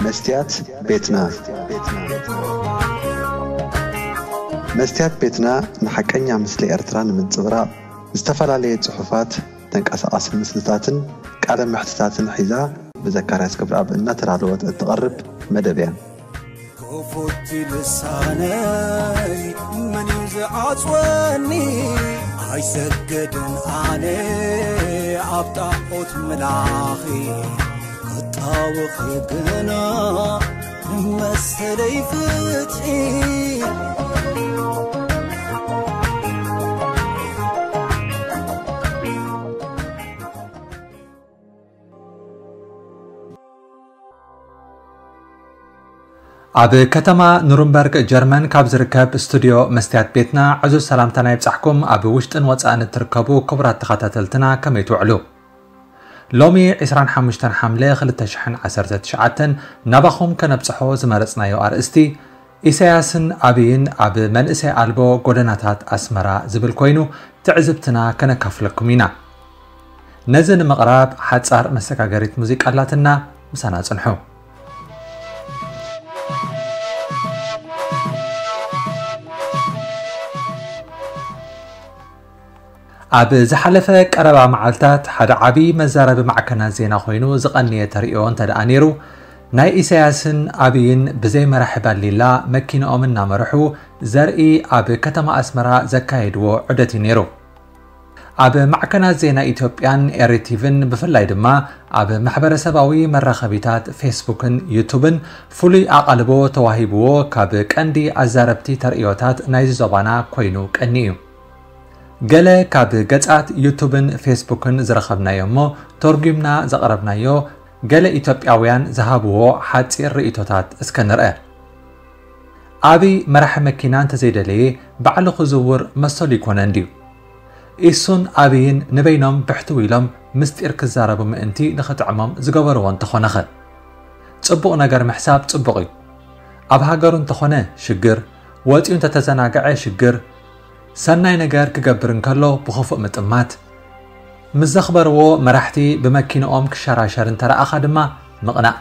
መስትያት ቤትና። መስትያት ቤትና ንሓቀኛ ምስሊ ኤርትራ ንምንጽብራቕ ዝተፈላለየ ጽሑፋት፣ ተንቀሳቓሲ ምስልታትን ቃለ መሕትታትን ሒዛ ብዘካርያስ ገብረኣብ እናተዳለወት እትቐርብ መደብ እያ። ክፉት ልሳነይ መን እዩ ዝዓጽወኒ? ኣይሰግድን ኣነ ኣብ ጣዖት ምላኺ፣ ክጣወኺ ግና መሰለይ ፍትሒ። ኣብ ከተማ ኑርንበርግ ጀርመን ካብ ዝርከብ ስቱድዮ መስትያት ቤትና ዕዙዝ ሰላምታና ይብጻሕኩም። ኣብ ውሽጥን ወጻእን እትርከቡ ክቡራት ተኸታተልትና ከመይ ትውዕሉ? ሎሚ ዕስራን ሓሙሽተን ሓምለ ክልተ ሽሕን ዓሰርተ ትሽዓተን ናባኹም ከነብጽሖ ዝመረጽናዮ ኣርእስቲ ኢሳያስን ኣብይን ኣብ መንእሰይ ኣልቦ ጎደናታት ኣስመራ ዝብል ኮይኑ ትዕዝብትና ከነካፍለኩም ኢና። ነዚ ንምቕራብ ሓጻር መሰጋገሪት ሙዚቃ ኣላትና፣ ምሳና ጽንሑ። ኣብ ዝሓለፈ ቀረባ መዓልታት ሓደ ዓቢ መዛረቢ ማዕከናት ዜና ኮይኑ ዝቐነየ ተርእዮ እንተ ደኣ ነይሩ፣ ናይ ኢሳያስን ኣብይን ብዘይ መራሒ ባሊላ መኪንኦም እናመርሑ ዘርኢ ኣብ ከተማ ኣስመራ ዘካየድዎ ዑደት እዩ ነይሩ። ኣብ ማዕከናት ዜና ኢትዮጵያን ኤሪቲቪን ብፍላይ ድማ ኣብ ማሕበረሰባዊ መራኸቢታት ፌስቡክን ዩቱብን ፍሉይ ኣቓልቦ ተዋሂብዎ ካብ ቀንዲ ኣዛረብቲ ተርእዮታት ናይዚ ዞባና ኮይኑ ቀኒ እዩ። ገለ ካብ ገጻት ዩቱብን ፌስቡክን ዝረኸብናዮ እሞ ተርጒምና ዘቕረብናዮ ገለ ኢትዮጵያውያን ዝሃብዎ ሓጺር ርእይቶታት እስከ ንርአ። ኣብይ መራሒ መኪና እንተዘይደለየ ባዕሉ ክዝውር መሰሉ ይኮነን ድዩ? ኢሱን ኣብይን ንበይኖም ብሕትው ኢሎም ምስጢር ክዛረቡ ምእንቲ ንኽጥዕሞም ዝገበርዎ እንተኾነኸ? ጽቡቕ ነገር ምሕሳብ ጽቡቕ እዩ። ኣብ ሃገሩ እንተኾነ ሽግር፣ ወጺኡ እንተተዘናግዐ ሽግር፣ ሰናይ ነገር ክገብር እንከሎ ብኽፉእ ምጥማት፣ ምስ ዘኽበርዎ መራሕቲ ብመኪንኦም ክሸራሸር እንተረኣኻ ድማ ምቕናእ።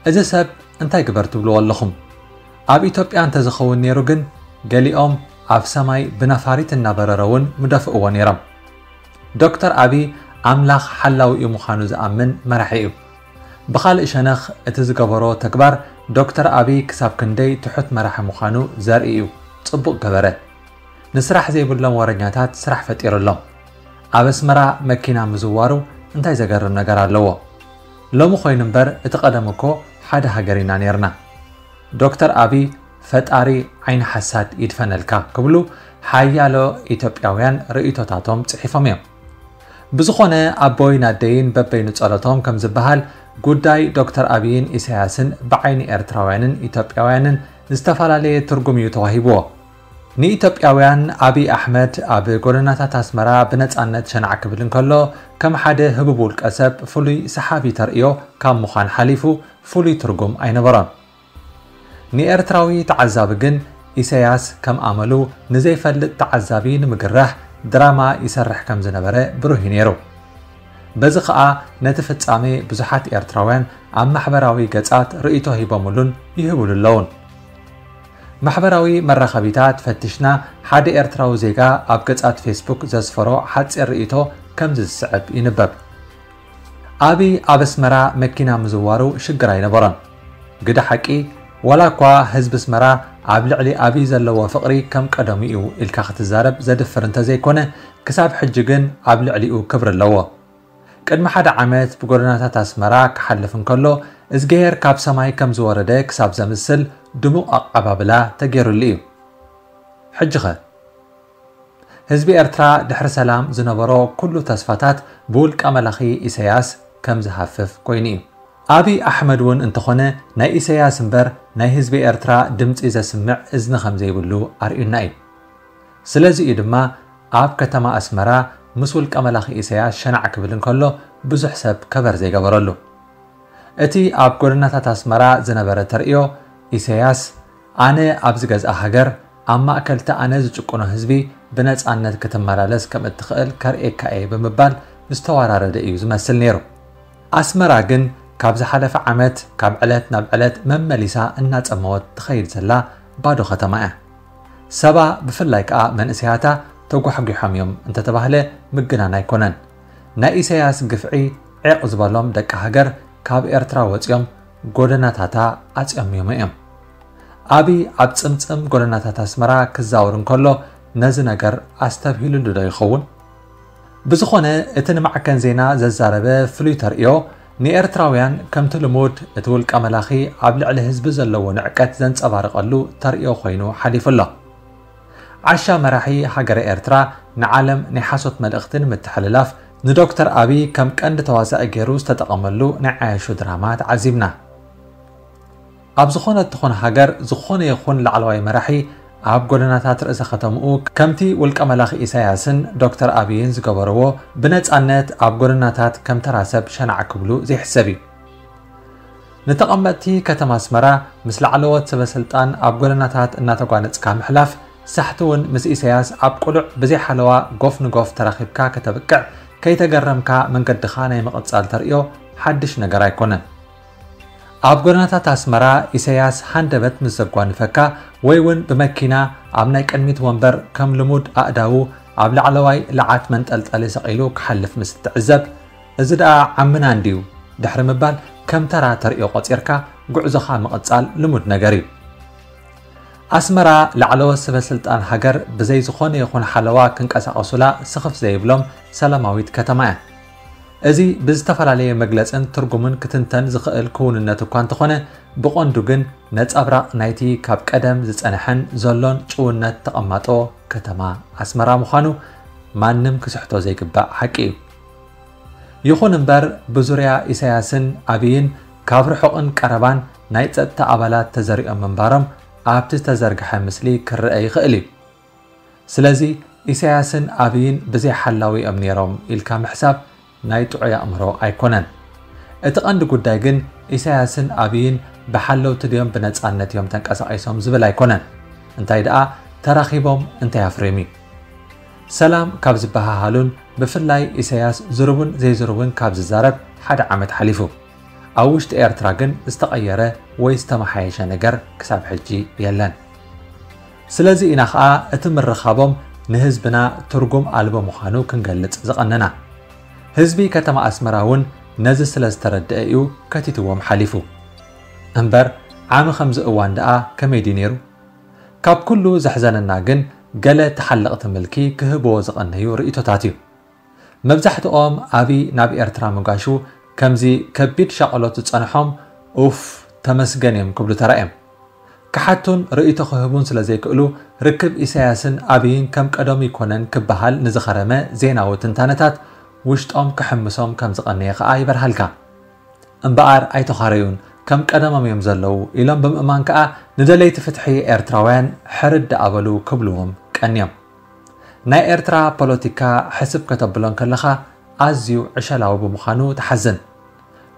እዚ ሰብ እንታይ ግበር ትብልዎ ኣለኹም? ኣብ ኢትዮጵያ እንተዝኸውን ነይሩ ግን ገሊኦም ኣብ ሰማይ ብነፋሪት እናበረረ እውን ምደፍእዎ ነይሮም። ዶክተር ኣብይ ኣምላኽ ሓላዊኡ ምዃኑ ዝኣምን መራሒ እዩ። ብኻልእ ሸነኽ እቲ ዝገበሮ ተግባር ዶክተር ኣብይ ክሳብ ክንደይ ትሑት መራሒ ምዃኑ ዘርኢ እዩ። ጽቡቕ ገበረ። ንስራሕ ዘይብሎም ወረኛታት ስራሕ ፈጢሩሎም። ኣብ ኣስመራ መኪና ምዝዋሩ እንታይ ዘገርም ነገር ኣለዎ? ሎሚ ኮይኑ እምበር እቲ ቀደም እኮ ሓደ ሃገር ኢና ነይርና። ዶክተር ኣብይ ፈጣሪ ዓይኒ ሓሳድ ይድፈነልካ ክብሉ ሓያሎ ኢትዮጵያውያን ርእይቶታቶም ጽሒፎም እዮም። ብዝኾነ ኣቦይን ኣደይን በበይኑ ጸሎቶም ከም ዝበሃል ጉዳይ ዶክተር ኣብይን ኢሳያስን ብዓይኒ ኤርትራውያንን ኢትዮጵያውያንን ዝተፈላለየ ትርጉም እዩ ተዋሂብዎ። ንኢትዮጵያውያን ኣብይ ኣሕመድ ኣብ ጎደናታት ኣስመራ ብነጻነት ሸናዕ ክብል እንከሎ ከም ሓደ ህቡብ ውልቀ ሰብ ፍሉይ ሰሓቢ ተርእዮ ካብ ምዃን ሓሊፉ ፍሉይ ትርጉም ኣይነበሮን። ንኤርትራዊ ተዓዛቢ ግን ኢሳያስ ከም ኣመሉ ንዘይፈልጥ ተዓዛቢ ንምግራሕ ድራማ ይሰርሕ ከም ዝነበረ ብሩህ እዩ ነይሩ። በዚ ኸኣ ነቲ ፍጻሜ ብዙሓት ኤርትራውያን ኣብ ማሕበራዊ ገጻት ርእይቶ ሂቦምሉን ይህብሉ ኣለዉን። ማሕበራዊ መራኸቢታት ፈቲሽና ሓደ ኤርትራዊ ዜጋ ኣብ ገጻት ፌስቡክ ዘስፈሮ ሓጺር ርእይቶ ከምዚ ዝስዕብ ይንበብ። ኣብይ ኣብ ኣስመራ መኪና ምዝዋሩ ሽግር ኣይነበሮን። ግደ ሓቂ፣ ዋላ እኳ ህዝቢ ኣስመራ ኣብ ልዕሊ ኣብይ ዘለዎ ፍቕሪ ከም ቀደሙ እዩ ኢልካ ክትዛረብ ዘድፍር እንተዘይኮነ፣ ክሳብ ሕጂ ግን ኣብ ልዕሊኡ ክብሪ ኣለዎ። ቅድሚ ሓደ ዓመት ብጎደናታት ኣስመራ ክሓልፍ እንከሎ፣ እዝግሄር ካብ ሰማይ ከም ዝወረደ ክሳብ ዘምስል ድሙቕ ኣቐባብላ ተገይሩሉ እዩ። ሕጂኸ? ህዝቢ ኤርትራ ድሕሪ ሰላም ዝነበሮ ኩሉ ተስፋታት ብውልቀ መላኺ ኢሳያስ ከም ዝሃፍፍ ኮይኑ እዩ። ኣብይ ኣሕመድ እውን እንተኾነ ናይ ኢሳያስ እምበር ናይ ህዝቢ ኤርትራ ድምጺ ዘስምዕ እዝኒ ከም ዘይብሉ ኣርእዩና እዩ። ስለዚ እዩ ድማ ኣብ ከተማ ኣስመራ ምስ ውልቀ መላኺ ኢሳያስ ሸናዕ ክብል እንከሎ ብዙሕ ሰብ ከቨር ዘይገበረሉ። እቲ ኣብ ጎደናታት ኣስመራ ዝነበረ ተርእዮ ኢሳያስ ኣነ ኣብ ዝገዝኣ ሃገር ኣብ ማእከል እቲ ኣነ ዝጭቁኖ ህዝቢ ብነጻነት ክትመላለስ ከም እትኽእል ከርእየካ እየ ብምባል ዝተወራረደ እዩ ዝመስል ነይሩ። ኣስመራ ግን ካብ ዝሓለፈ ዓመት ካብ ዕለት ናብ ዕለት መመሊሳ እናጸመወት ትኸይድ ዘላ ባዶ ከተማ እያ። ሰባ ብፍላይ ከኣ መንእሰያታ ተጓሕጒሖም እዮም እንተተባህለ ምግናን ኣይኮነን። ናይ ኢሳያስ ግፍዒ ዒቕ ዝበሎም ደቂ ሃገር ካብ ኤርትራ ወጺኦም ጎደናታታ ኣጽዮሚሞ እዮም። ኣብይ ኣብ ጽምጽም ጎደናታት ኣስመራ ክዛወር እንከሎ ነዚ ነገር ኣስተብሂሉሉ ዶ ይኸውን? ብዝኾነ እቲ ንማዕከን ዜና ዘዛረበ ፍሉይ ተርእዮ ንኤርትራውያን ከምቲ ልሙድ እቲ ውልቀ መላኺ ኣብ ልዕሊ ህዝቢ ዘለዎ ንዕቀት ዘንጸባርቐሉ ተርእዮ ኮይኑ ሓሊፉ ኣሎ። ዓሻ መራሒ ሃገረ ኤርትራ ንዓለም ናይ ሓሶት መልእኽቲ ንምትሕልላፍ ንዶክተር ኣብይ ከም ቀንዲ ተዋሳኢ ገይሩ ዝተጠቐመሉ ናይ ዓያሹ ድራማ ተዓዚብና። ኣብ ዝኾነት ትኹን ሃገር ዝኾነ ይኹን ላዕለዋይ መራሒ ኣብ ጎደናታት ርእሰ ከተምኡ ከምቲ ውልቀ መላኺ ኢሳያስን ዶክተር ኣብይን ዝገበርዎ ብነጻነት ኣብ ጎደናታት ከም ተራ ሰብ ሸናዕ ክብሉ ዘይሕሰብ እዩ። ንተቐመጥቲ ከተማ ኣስመራ ምስ ላዕለዎት ሰበ ስልጣን ኣብ ጎደናታት እናተጓነጽካ ምሕላፍ ሳሕቲ እውን ምስ ኢሳያስ ኣብ ቅሉዕ ብዘይ ሓለዋ ጎፍ ንጎፍ ተራኺብካ ከተብቅዕ ከይተገረምካ መንገድኻ ናይ ምቕጻል ተርእዮ ሓድሽ ነገር ኣይኮነን። ኣብ ጎደናታት ኣስመራ ኢሳያስ ሃንደበት ምስ ዘጓንፈካ ወይ እውን ብመኪና ኣብ ናይ ቅድሚት ወንበር ከም ልሙድ ኣእዳዉ ኣብ ላዕለዋይ ለዓት መንጠልጠሊ ሰቒሉ ክሓልፍ ምስ እትዕዘብ፣ እዚ ደኣ ዓምና እንድዩ ድሕሪ ምባል ከም ተራ ተርእዮ ቆጺርካ ጉዕዞኻ ምቕጻል ልሙድ ነገር እዩ። ኣስመራ ላዕለዎት ሰበ ስልጣን ሃገር ብዘይ ዝኾነ ይኹን ሓለዋ ክንቀሳቐሱላ ስኽፍ ዘይብሎም ሰላማዊት ከተማ እያ። እዚ ብዝተፈላለየ መግለጽን ትርጉምን ክትንተን ዝኽእል ክውንነት እኳ እንተኾነ ብቐንዱ ግን ነጸብራቕ ናይቲ ካብ ቀደም ዝጸንሐን ዘሎን ጭውነት ተቐማጦ ከተማ ኣስመራ ምዃኑ ማንም ክስሕቶ ዘይግባእ ሓቂ እዩ። ይኹን እምበር ብዙርያ ኢሳያስን ኣብይን ካብ ርሑቕን ቀረባን ናይ ጸጥታ ኣባላት ተዘሪኦም ምንባሮም ኣብቲ ዝተዘርግሐ ምስሊ ክረአ ይኽእል እዩ። ስለዚ ኢሳያስን ኣብይን ብዘይ ሓላዊ እዮም ነይሮም ኢልካ ምሕሳብ ናይ ጥዑይ ኣእምሮ ኣይኮነን። እቲ ቀንዲ ጉዳይ ግን ኢሳያስን ኣብይን ብሓለውቲ ድዮም ብነጻነት እዮም ተንቀሳቒሶም ዝብል ኣይኮነን። እንታይ ደኣ ተራኺቦም እንታይ ኣፍርዮም እዩ? ሰላም ካብ ዝበሃሃሉን ብፍላይ ኢሳያስ ዝርቡን ዘይዝርቡን ካብ ዝዛረብ ሓደ ዓመት ሓሊፉ። ኣብ ውሽጢ ኤርትራ ግን ዝተቐየረ ወይ ዝተመሓየሸ ነገር ክሳብ ሕጂ የለን። ስለዚ ኢና ኸኣ እቲ ምርኻቦም ንህዝብና ትርጉም ኣልቦ ምዃኑ ክንገልጽ ዝቐነና። ህዝቢ ከተማ ኣስመራ እውን ነዚ ስለ ዝተረድአ እዩ ከቲትዎም ሓሊፉ። እምበር ዓሚ ከምዚ እዋን ደኣ ከመይ ድዩ ነይሩ? ካብ ኩሉ ዘሕዘነና ግን ገለ ተሓለቕቲ ምልኪ ክህብዎ ዝቐነዩ ርእይቶታት እዩ። መብዛሕትኦም ኣብይ ናብ ኤርትራ ምጋሹ ከምዚ ከቢድ ሻቕሎት ዝጸንሖም ኡፍ ተመስገን እዮም ክብሉ ተራእዮም። ክሓቱን ርእይቶ ክህቡን ስለ ዘይክእሉ ርክብ ኢሳያስን ኣብይን ከም ቀደሙ ይኮነን ክበሃል ንዝኸረመ ዜናዊ ትንታነታት ውሽጦም ክሕምሶም ከም ዝቐነየ ከኣ ይበርሃልካ። እምበኣር ኣይተኻረዩን፣ ከም ቀደሞም እዮም ዘለዉ ኢሎም ብምእማን ከኣ ንደለይቲ ፍትሒ ኤርትራውያን ሕርድ ኣበሉ ክብልዎም ቀንዮም። ናይ ኤርትራ ፖለቲካ ሕስብ ከተብሎ እንከለኻ ኣዝዩ ዕሸላዊ ብምዃኑ ትሓዝን።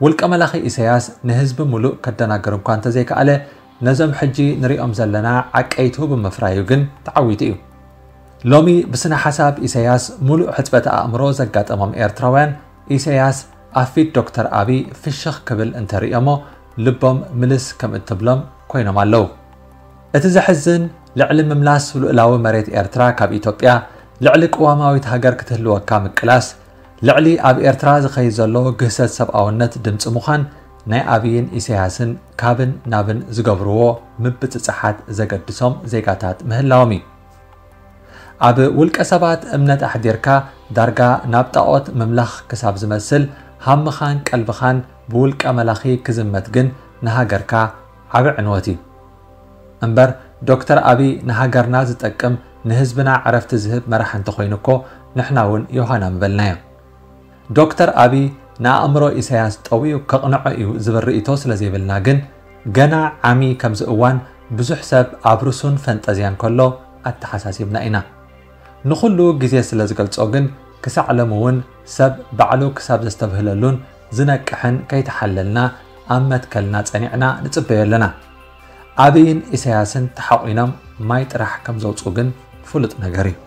ውልቀ መላኺ ኢሳያስ ንህዝቢ ሙሉእ ከደናግር እኳ እንተዘይከኣለ ነዞም ሕጂ ንሪኦም ዘለና ዓቀይቱ ብምፍራዩ ግን ተዓዊቱ እዩ። ሎሚ ብስነ ሓሳብ ኢሳያስ ሙሉእ ሕጽበተ ኣእምሮ ዘጋጠሞም ኤርትራውያን ኢሳያስ ኣብ ፊት ዶክተር ኣብይ ፍሽኽ ክብል እንተርእዮሞ ልቦም ምልስ ከም እትብሎም ኮይኖም ኣለዉ። እቲ ዘሕዝን ልዕሊ ምምላስ ልኡላዊ መሬት ኤርትራ ካብ ኢትዮጵያ፣ ልዕሊ ቅዋማዊት ሃገር ክትህልወካ ምቅላስ፣ ልዕሊ ኣብ ኤርትራ ዝኸይድ ዘሎ ግህሰት ሰብኣውነት ድምጺ ምዃን ናይ ኣብይን ኢሳያስን ካብን ናብን ዝገብርዎ ምብጽጻሓት ዘገድሶም ዜጋታት ምህላዎም እዩ። ኣብ ውልቀ ሰባት እምነት ኣሕዲርካ ዳርጋ ናብ ጣኦት ምምላኽ ክሳብ ዝመስል ሃምኻን ቀልብኻን ብውልቀ መላኺ ክዝመት ግን ንሃገርካ ዓቢ ዕንወት እዩ። እምበር ዶክተር ኣብይ ንሃገርና ዝጠቅም ንህዝብና ዕረፍቲ ዝህብ መራሒ እንተኾይኑ እኮ ንሕና እውን ዮሃና ምበልናዮ። ዶክተር ኣብይ ንኣእምሮ ኢሳያስ ጠውዩ ከቕንዖ እዩ ዝብል ርእይቶ ስለ ዘይብልና ግን ገና ዓሚ ከምዚ እዋን ብዙሕ ሰብ ኣብ ርሱን ፈንጠዝያን ከሎ ኣተሓሳሲብና ኢና። ንኹሉ ግዜ ስለ ዝገልጾ ግን ክሳዕ ሎሚ እውን ሰብ ባዕሉ ክሳብ ዘስተብህለሉን ዝነቅሕን ከይተሓለልና ኣብ መትከልና ጸኒዕና ንጽበዮ ኣለና። ኣብይን ኢሳያስን ተሓቑኖም ማይ ጥራሕ ከም ዘውጽኡ ግን ፍሉጥ ነገር እዩ።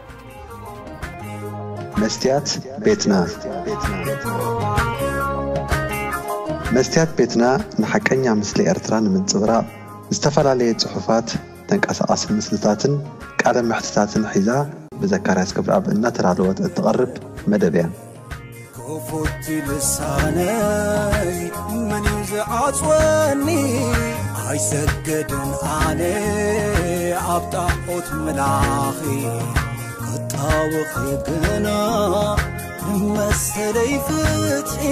መስትያት ቤትና መስትያት ቤትና ንሓቀኛ ምስሊ ኤርትራ ንምንጽብራቕ ዝተፈላለየ ጽሑፋት፣ ተንቀሳቓሲ ምስልታትን ቃለ መሕትታትን ሒዛ ብዘካርያስ ክብረኣብ እናተዳለወት እትቐርብ መደብ እያ። ክፉት ልሳነይ መን እዩ ዝዓጽወኒ? ኣይሰገድን ኣነ ኣብ ጣዖት ምላኺ ክጣወኺ ግና ንመሰለይ ፍትሒ